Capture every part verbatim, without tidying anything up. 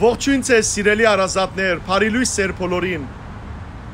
Ողջոյն ձեզ, սիրելի հարազատներ, բարի լոյս ձեր բոլորին։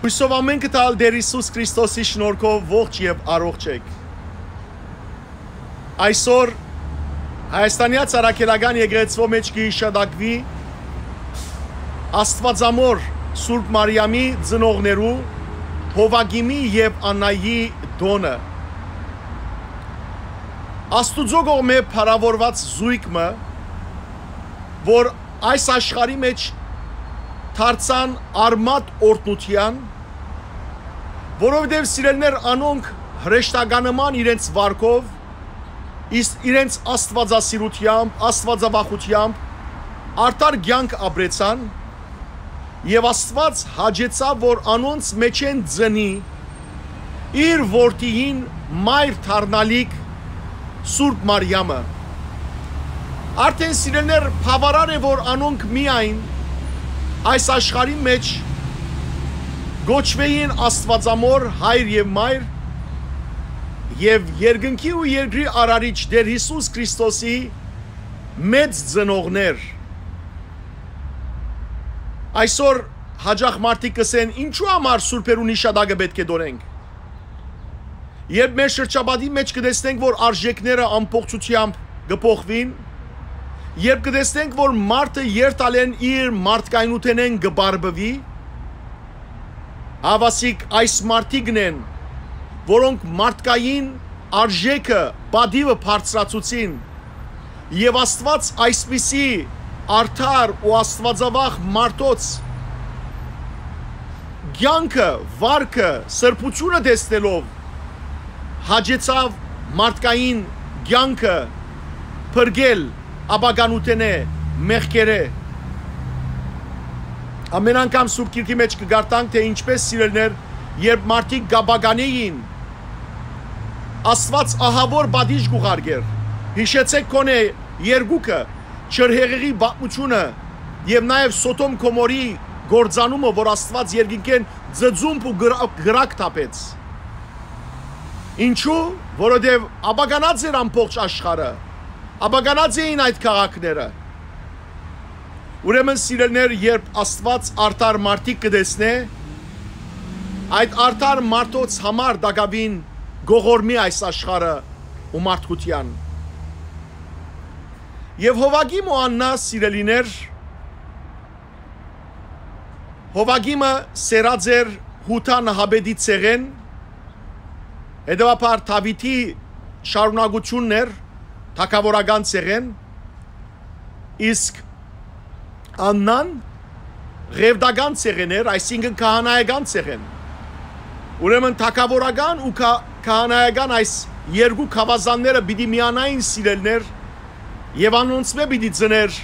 Հոյսով ամէնքը տալ Տէր Յիսուս Քրիստոսի շնորհքով ողջ եւ առողջ էք։ Այսօր Հայաստանեայ Առաքելական Եկեղեցւոյ մէջ կը յիշատակուի Աստուածամոր Սուրբ Մարիամի ծնողներու Յովակիմի եւ Աննայի տօնը։ Աստուծոյ կողմէ փառաւորուած զոյգ մը, որ այս աշխարհի մէջ դարձան արմատ օրհնութեան, որովհետեւ, սիրելիներ, անոնք հրեշտականման իրենց վարքով, իս-, իրենց աստուածասիրութեամբ, աստուածավախութեամբ արդար կեանք ապրեցան, եւ Աստուած հաճեցաւ, որ անոնց մէջէն ծնի իր որդիին մայր դառնալիք Սուրբ Մարիամը։ Արդէն, սիրելիներ, բաւարար է, որ անոնք միայն այս աշխարհի մէջ կոչուէին Աստուածամոր հայր եւ մայր, եւ երկնքի ու երկրի արարիչ Տէր Յիսուս Քրիստոսի մեծ ծնողներ։ Այսօր հաճախ մարդիկ կ'ըսեն. «Ինչու համար սուրբերուն յիշատակը պէտք է տոնենք»։ Երբ մեր շրջապատի մէջ կը տեսնենք, որ արժեքները ամբողջութեամբ կը փոխուին, երբ կը տեսնենք, որ մարդը երթալէն իր մարդկայնութենէն կը բարբուի, հաւասիկ այս մարդիկն են, որոնք մարդկային արժեքը, պատիւը բարձրացուցին, եւ Աստուած այսպիսի արդար ու աստուածավախ մարդոց կեանքը, վարքը, սրբութիւնը տեսնելով, հաճեցաւ մարդկային կեանքը փրկել ապականութենէ, մեղքերէ։ Ամէն անգամ Սուրբ Գիրքի մէջ կը կարդանք, թէ ինչպէս, սիրելիներ, երբ մարդիկ կ'ապականէին, Աստուած ահաւոր պատիժ կ'ուղարկէր։ Յիշեցէք գոնէ երկուքը, ջրհեղեղի պատմութիւնը եւ նաեւ Սոդոմ Գոմորի կործանումը, որ Աստուած երկնքէն ծծումբ ու կրա-, կրակ թափեց։ Ինչու՞, որովհետեւ աբականած էր ամբողջ աշխարհը, աբականած էին այդ քաղաքները։ Ուրեմն, սիրելիներ, երբ Աստուած արդար մարդիկ կը տեսնէ, այդ արդար մարդոց համար տակաւին կ'ողորմի այս աշխարհը ու մարդկութեան։ Եւ Յովակիմ ու Աննա, սիրելիներ, Յովակիմը սերած էր Յուդա նահապետի ցեղէն, հետեւաբար Դաւիթի շարունակութիւնն էր թագաւորական ցեղէն, իսկ Աննան ղեւտական ցեղէն էր, այսինքն՝ քահանայական ցեղէն։ Ուրեմն թագաւորական ու քա-, քահանայական այս երկու գաւազանները պիտի միանային, սիրելիներ, եւ անոնցմէ պիտի ծնէր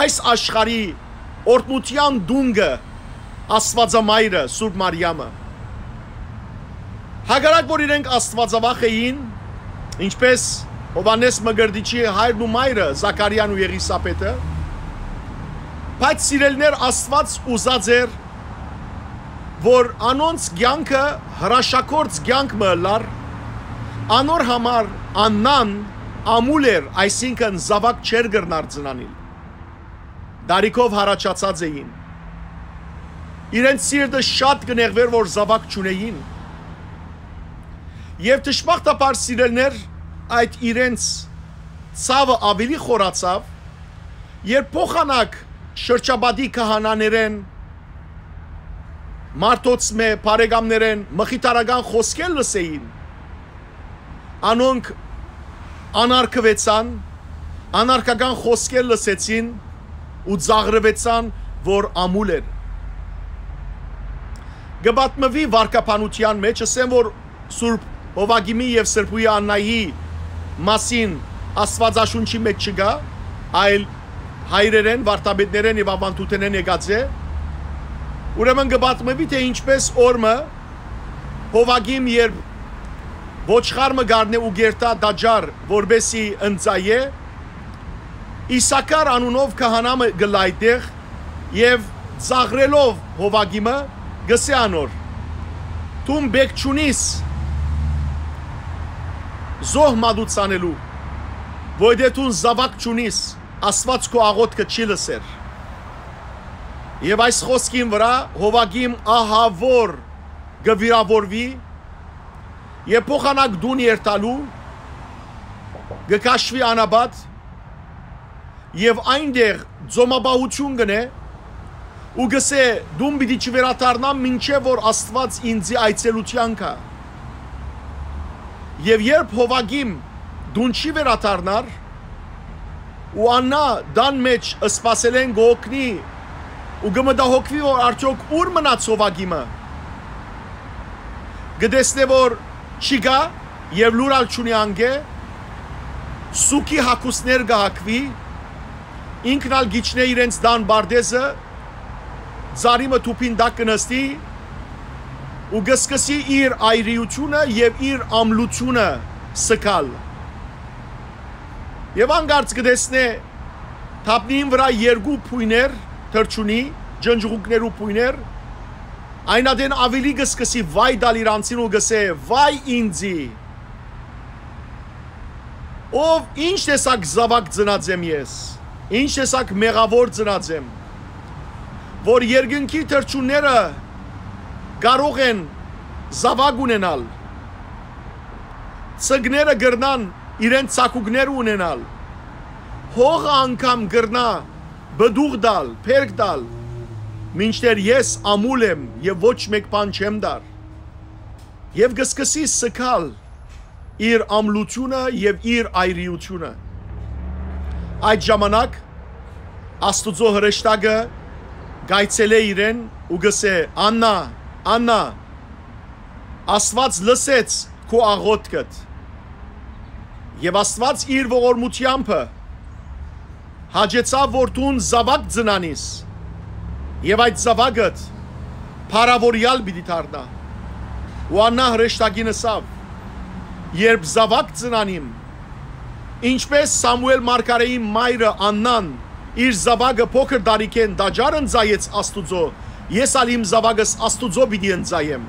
այս աշխարհի օրհնութեան տունկը, Աստուածամայրը, Սուրբ Մարիամը։ Հակառակ որ իրենք աստուածավախ էին, ինչպես Յովհաննէս Մկրտիչի հայրն ու մայրը, Զաքարիան ու Եղիսաբեթը, բայց, սիրելիներ, Աստուած ուզած էր, որ անոնց կեանքը հրաշագործ կեանք մը ըլլար, անոր համար Աննան ամուլ էր, այսինքն՝ զաւակ չէր կրնար ծնանել։ Տարիքով յառաջացած էին։ Իրենց սիրտը շատ կը նեղուէր, որ զաւակ չունէին։ Եւ դժբախտաբար, սիրելիներ, այդ իրենց ցաւը աւելի խորացաւ, երբ փոխանակ շրջապատի քահանաներէն, մարդոցմէ, բարեկամներէն մխիթարական խօսքեր լսէին, անոնք անարգուեցան, անարգական խօսքեր լսեցին ու ծաղրուեցան, որ ամուլ էր։ Կը պատմուի վարկաբանութեան մէջ, ըսեն, որ Սուրբ Յովակիմի եւ Սրբոյի Աննայի մասին Աստուածաշունչի մէջ չկայ, այլ հայրերէն, վարդապետներէն եւ աւանդութենէն եկած է։ Ուրեմն կը պատմուի, թէ ինչպէս օր մը Յովակիմ, երբ ոչխար մը կ'առնէ ու կ'երթայ տաճար, որպէսզի ընծայէ, Իսաքար անունով քահանայ մը կ'ըլլայ այդտեղ եւ ծաղրելով Յովակիմը, կ'ըսէ անոր. «Դուն պէտք չունիս զոհ մատուցանելու, որովհետեւ դուն զաւակ չունիս, Աստուած քու աղօթքը չի լսեր»։ Եւ այս խօսքին վրայ Յովակիմ ահաւոր կը վիրաւորուի եւ փոխանակ տուն երթալու կը քաշուի անապատ եւ այնտեղ ծոմապահութիւն կ'ընէ ու կ'ըսէ. «Տուն պիտի չվերադառնամ, մինչեւ որ Աստուած ինծի այցելութեան գայ»։ Եւ երբ Յովակիմ տուն չի վերադառնար, ու Աննա տան մէջ սպասելէն կը հոգնի ու կը մտահոգուի, որ արդեօք ո՞ւր մնաց Յովակիմը, կը տեսնէ, որ չի գայ եւ լուր ալ չունի անկէ, սուքի հագուստներ կը հագուի, ինքն ալ կ'իջնէ իրենց տան պարտէզը, ծառի մը թուփին տակ կը նստի ու կը սկսի իր այրիութիւնը եւ իր ամլութիւնը սկալ։ Եւ անկարծ կը տեսնէ թափնիին վրայ երկու փոյներ թռչունի, ջնջուղունքներու փոյներ, այն ատեն աւելի կը սկսի վայ տալ իր անձին ու կ'ըսէ. «Վայ ինծի, ով, ինչ տեսակ զաւակ ծնած եմ ես, ինչ տեսակ մեղաւոր ծնած եմ, որ երկնքի թռչունները կարող են զաւակ ունենալ, ցկները կրնան իրենց ցակուկները ունենալ, հողը անգամ կրնայ պտուղ տալ, բերք տալ, մինչդեռ ես ամուլ եմ եւ ոչ մէկ բան չեմ տար»։ Եւ կը սկսի սկալ իր ամլութիւնը եւ իր այրիութիւնը։ Այդ ժամանակ Աստուծոյ հրեշտակը կ'այցելէ իրեն ու կ'ըսէ. «Աննա, Աննա, Աստուած լսեց քու աղօթքդ եւ Աստուած իր ողորմութեամբը հաճեցաւ, որ դուն զաւակ ծնանիս, եւ այդ զաւակդ փառաւորեալ պիտի դառնայ»։ Ու Աննա հրեշտակին ըսաւ. «Երբ զաւակ ծնանիմ, ինչպէս Սամուէլ մարգարէին մայրը Աննան իր զաւակը փոքր տարիքէն տաճար ընծայեց Աստուծոյ, ես ալ իմ զաւակս Աստուծոյ պիտի ընծայեմ»։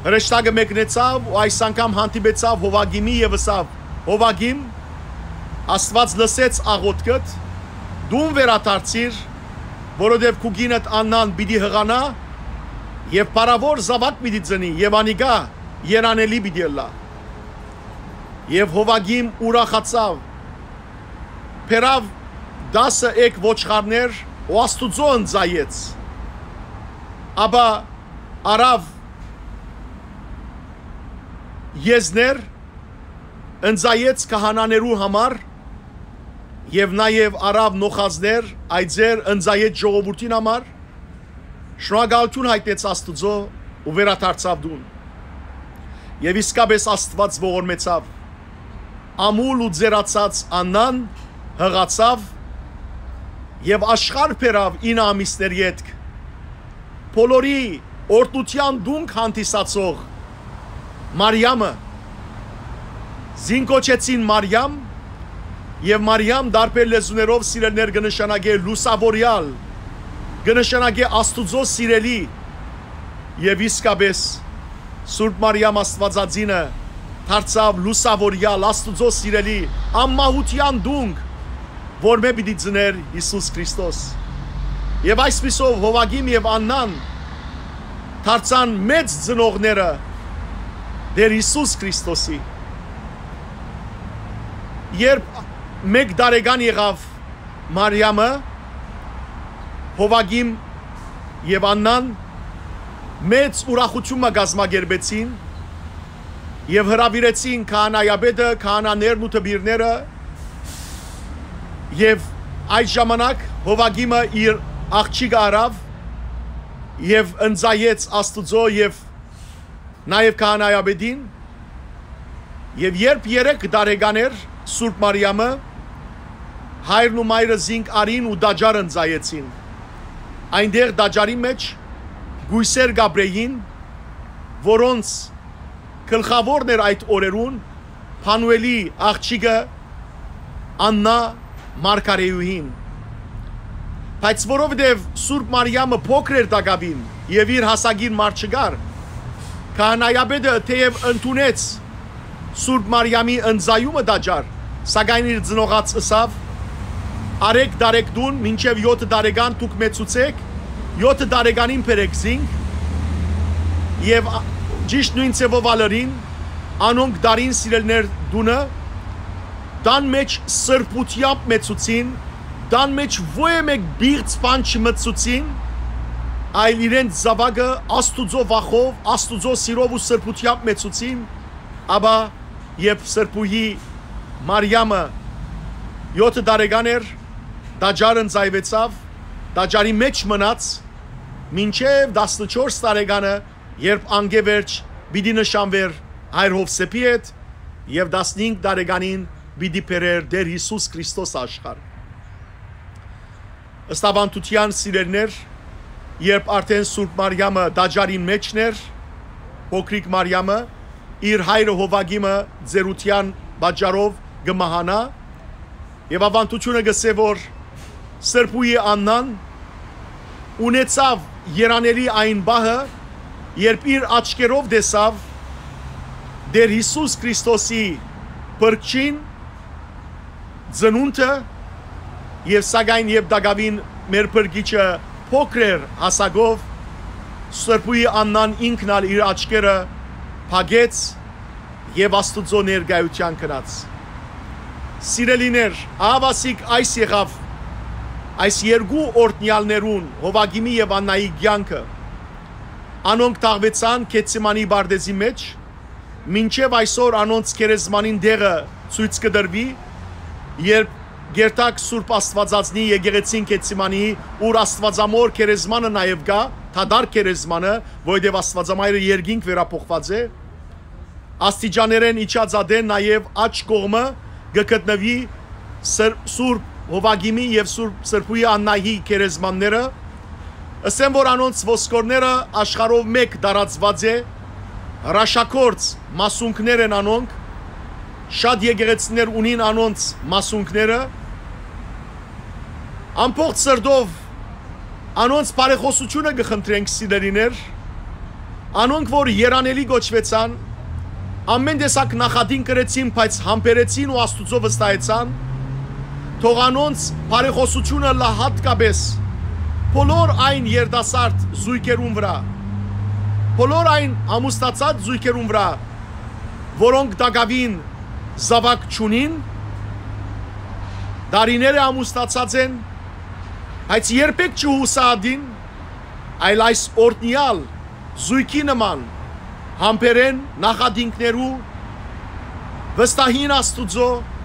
Հրեշտակը մեկնեցաւ ու այս անգամ հանդիպեցաւ Յովակիմի եւ ըսաւ. «Յովակիմ, Աստուած լսեց աղօթքդ, տուն վերադարձիր, որովհետեւ քու կինդ Աննան պիտի յղանայ եւ փառաւոր զաւակ պիտի ծնի եւ անիկա երանելի պիտի ըլլայ»։ Եւ Յովակիմ ուրախացաւ, բերաւ տասը էգ ոչխարներ ու Աստուծոյ ընծայեց։ Ապա առաւ եզներ, ընծայեց քահանաներու համար եւ նաեւ առաւ նոխազներ, այծեր, ընծայեց ժողովուրդին համար, շնորհակալութիւն յայտնեց Աստուծոյ ու վերադարձաւ տուն։ Եւ իսկապէս Աստուած ողորմեցաւ։ Ամուլ ու ծերացած Աննան յղացաւ եւ աշխարհ բերաւ ինը ամիսներ ետք։ Բոլորի օրհնութեան տունկ հանդիսացող Մարիամը, զին կոչեցին Մարիամ, եւ Մարիամ տարբեր լեզուներով, սիրելիներ, կը նշանակէ լուսաւորեալ, կը նշանակէ Աստուծոյ սիրելի, եւ իսկապէս Սուրբ Մարիամ Աստուածածինը դարձաւ լուսաւորեալ, Աստուծոյ սիրելի, անմահութեան տունկ, որմէ պիտի ծնէր Յիսուս Քրիստոս։ Եւ այսպիսով Յովակիմ եւ Աննան դարձան մեծ ծնողները Տէր Յիսուս Քրիստոսի։ Երբ մէկ տարեկան եղաւ Մարիամը, Յովակիմ եւ Աննան մեծ ուրախութիւն մը կազմակերպեցին եւ հրաւիրեցին քահանայապետը, քահանաներն ու դպիրները, եւ այդ ժամանակ Յովակիմը իր աղջիկը առաւ եւ ընծայեց Աստուծոյ եւ նաեւ քահանայապետին։ Եւ երբ երեք տարեկան էր Սուրբ Մարիամը, հայրն ու մայրը զինք առին ու տաճար ընծայեցին։ Այնտեղ տաճարի մէջ կոյսեր կ'ապրէին, որոնց գլխաւորն էր այդ օրերուն Փանուէլի աղջիկը Աննա մարգարէուհին։ Բայց որովհետեւ Սուրբ Մարիամը փոքր էր տակաւին եւ իր հասակին մար չկար, քահանայապետը թէեւ ընդունեց Սուրբ Մարիամի ընծայումը տաճար, սակայն իր ծնողաց ըսաւ. Արեգ տարեկան մինչեւ եօթը տարեկան դուք մեծցուցէք, եօթը տարեկանին բերէք զինք, եւ ա-, ճիշդ նոյն ձեւով ալ ըրին, անոնք տարին սիրելիներ տունը, տան մէջ սրբութեամբ մեծցուցին, տան մէջ ոյ մէկ պիղծ բան չմտցուցին, այլ իրենց զաւակը Աստուծոյ վախով, Աստուծոյ սիրով ու սրբութեամբ մեծցուցին, ապա երբ Սրբուհի Մարիամը եօթը տարեկան էր, տաճարը ընծայուեցաւ, տաճարի մէջ մնաց, մինչեւ տասնչորս տարեկանը, երբ անկէ վերջ պիտի նշանուէր հայր Յովսէփի հետ եւ տասնհինգ տարեկանին պիտի բերէր Տէր Յիսուս Քրիստոս աշխարհ։ Ըստ աւանդութեան, սիրելիներ, երբ արդէն Սուրբ Մարիամը տաճարին մէջն էր, փոքրիկ Մարիամը, իր հայրը Յովակիմը ծերութեան պատճառով կը մահանայ, եւ աւանդութիւնը կ'ըսէ, որ Սրբուհի Աննան ունեցաւ երանելի այն պահը, երբ իր աչքերով տեսաւ Տէր Յիսուս Քրիստոսի փրկչին, ծնունդը, եւ սակայն երբ տակաւին մեր փրկիչը փոքր էր հասակով, Սրբուհի Աննան ինքն ալ իր աչքերը փակեց եւ Աստուծոյ ներկայութեան գնաց։ Սիրելիներ, ահաւասիկ այս եղաւ այս երկու օրհնեալներուն՝ Յովակիմի եւ Աննայի կեանքը։ Անոնք թաղուեցան Գեթսեմանի պարտէզի մէջ, մինչեւ այսօր անոնց գերեզմանին տեղը ցոյց կը տրուի, երբ կ'երթաք Սուրբ Աստուածածնի եկեղեցին Գեթսեմանի, ուր Աստուածամոր գերեզմանը նաեւ կայ, դատարկ գերեզմանը, որովհետեւ Աստուածամայրը երկինք վերափոխուած է, աստիճաներէն իջած ատեն նաեւ աջ կողմը կը գտնուի Սր-, Սուրբ Յովակիմի եւ Սուրբ Սրբուհի Աննայի գերեզմանները, ըսեն, որ անոնց ոսկորները աշխարհով մէկ տարածուած է, հրաշագործ մասունքներ են անոնք, շատ եկեղեցիներ ունին անոնց մասունքները, ամբողջ սրտով անոնց բարեխօսութիւնը կը խնդրենք, սիրելիներ, անոնք որ երանելի կոչուեցան, ամեն տեսակ նախատինք կրեցին, բայց համբերեցին ու Աստուծոյ վստահեցան, թող անոնց բարեխօսութիւնը լա յատկապէս բոլոր այն երիտասարդ զոյգերուն վրայ, բոլոր այն ամուսնացած զոյգերուն վրայ, որոնք տակաւին զաւակ չունին, տարիներ է ամուսնացած են, բայց երբեք չյուսահատին, այլ այս օրհնեալ զոյգի նման համբերեն, նախատինքներու, վստահին Աստուծոյ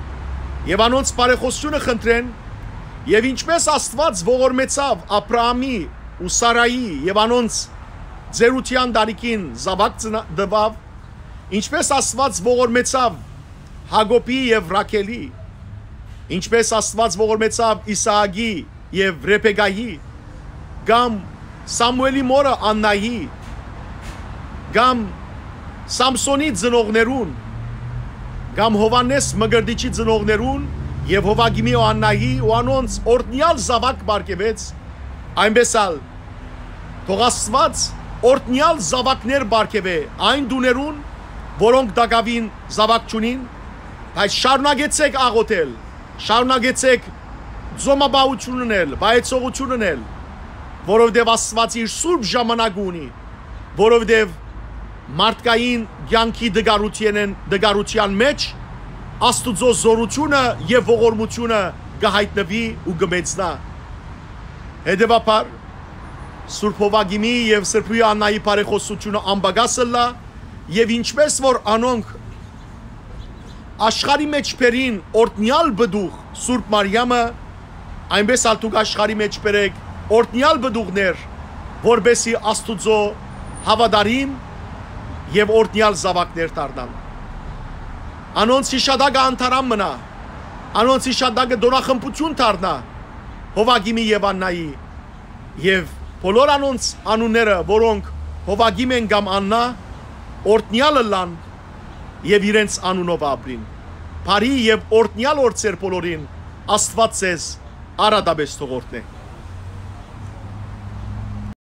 եւ անոնց բարեխօսութիւնը խնդրեն, եւ ինչպէս Աստուած ողորմեցաւ Աբրահամի ու Սարայի եւ անոնց ծերութեան տարիքին զաւակ ծնա-, տուաւ, ինչպէս Աստուած ողորմեցաւ Յակոբի եւ Ռաքելի, ինչպէս Աստուած ողորմեցաւ Իսահակի եւ Ռեբեկայի, կամ Սամուէլի մօրը Աննայի, կամ Սամսոնի ծնողներուն, կամ Յովհաննէս Մկրտիչի ծնողներուն եւ Յովակիմի ու Աննայի ու անոնց օրհնեալ զաւակ պարգեւեց, այնպէս ալ թող Աստուած օրհնեալ զաւակներ պարգեւէ այն տուներուն, որոնք տակաւին զաւակ չունին, բայց շարունակեցէք աղօթել, շարունակեցէք ծոմապահութիւն ընել, վայեցողութիւն ընել, որովհետեւ Աստուած իր սուրբ ժամանակը ունի, որովհետեւ մարդկային կեանքի տկարութենէն, տկարութեան մէջ Աստուծոյ զօրութիւնը եւ ողորմութիւնը կը յայտնուի ու կը մեծնայ։ Հետեւաբար, Սուրբ Յովակիմի եւ Սրբուհի Աննայի բարեխօսութիւնը անպակաս ըլլայ, եւ ինչպէս որ անոնք աշխարհի մէջ բերին օրհնեալ պտուղ Սուրբ Մարիամը, այնպէս ալ դուք աշխարհի մէջ բերէք օրհնեալ պտուղներ, որպէսզի Աստուծոյ հաւատարիմ եւ օրհնեալ զաւակներ դառնան։ Անոնց յիշատակը անդարան մնայ, անոնց յիշատակը տօնախմբութիւն դառնայ Յովակիմի եւ Աննայի, եւ բոլոր անոնց անունները, որոնք Յովակիմ են կամ Աննա, օրհնեալ ըլլան եւ իրենց անունով ապրին։ Բարի եւ օրհնեալ օր ձեր բոլորին, Աստուած ձեզ առատապէս թող օրհնէ։